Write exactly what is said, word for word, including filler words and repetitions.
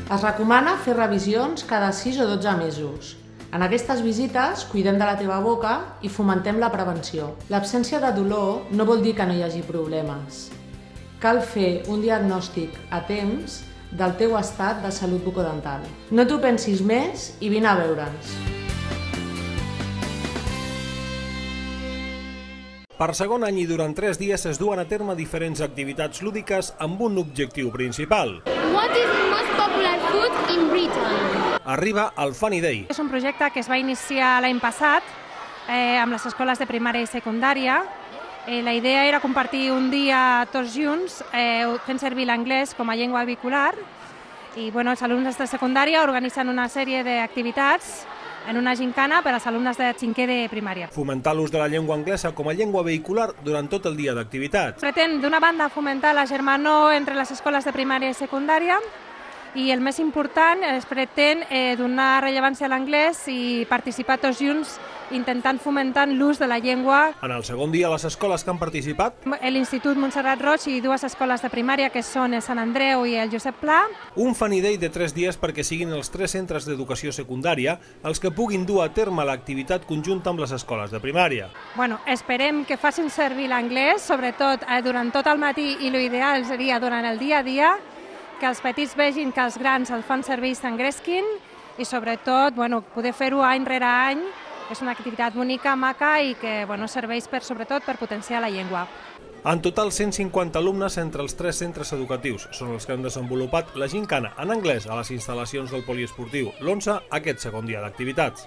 Es recomana fer revisions cada sis o dotze mesos. En aquestes visites cuidem de la teva boca i fomentem la prevenció. L'absència de dolor no vol dir que no hi hagi problemes. Cal fer un diagnòstic a temps del teu estat de salut bucodental. No t'ho pensis més i vine a veure'ns. Per segon any i durant tres dies es duen a terme diferents activitats lúdiques amb un objectiu principal. What is the most popular food in Britain? Arriba el Funny Day. És un projecte que es va iniciar l'any passat eh, amb les escoles de primària i secundària. Eh, la idea era compartir un dia tots junts eh, fent servir l'anglès com a llengua vehicular i bueno, els alumnes de secundària organitzen una sèrie d'activitats en una gincana per als alumnes de cinquè de primària. Fomentar l'ús de la llengua anglesa com a llengua vehicular durant tot el dia d'activitats. Pretén, d'una banda, fomentar la germanor entre les escoles de primària i secundària i el més important, es pretén eh, donar rellevància a l'anglès i participar tots junts intentant fomentar l'ús de la llengua. En el segon dia, les escoles que han participat... L'Institut Montserrat Roig i dues escoles de primària que són el Sant Andreu i el Josep Pla. Un Funny Day de tres dies perquè siguin els tres centres d'educació secundària els que puguin dur a terme l'activitat conjunta amb les escoles de primària. Bueno, esperem que facin servir l'anglès, sobretot eh, durant tot el matí i l'ideal seria durant el dia a dia, que els petits vegin que els grans el fan servir i s'engresquin i sobretot bueno, poder fer-ho any rere any. És una activitat bonica, maca i que bueno, serveix per, sobretot per potenciar la llengua. En total, cent cinquanta alumnes entre els tres centres educatius són els que han desenvolupat la gincana en anglès a les instal·lacions del poliesportiu l'onze aquest segon dia d'activitats.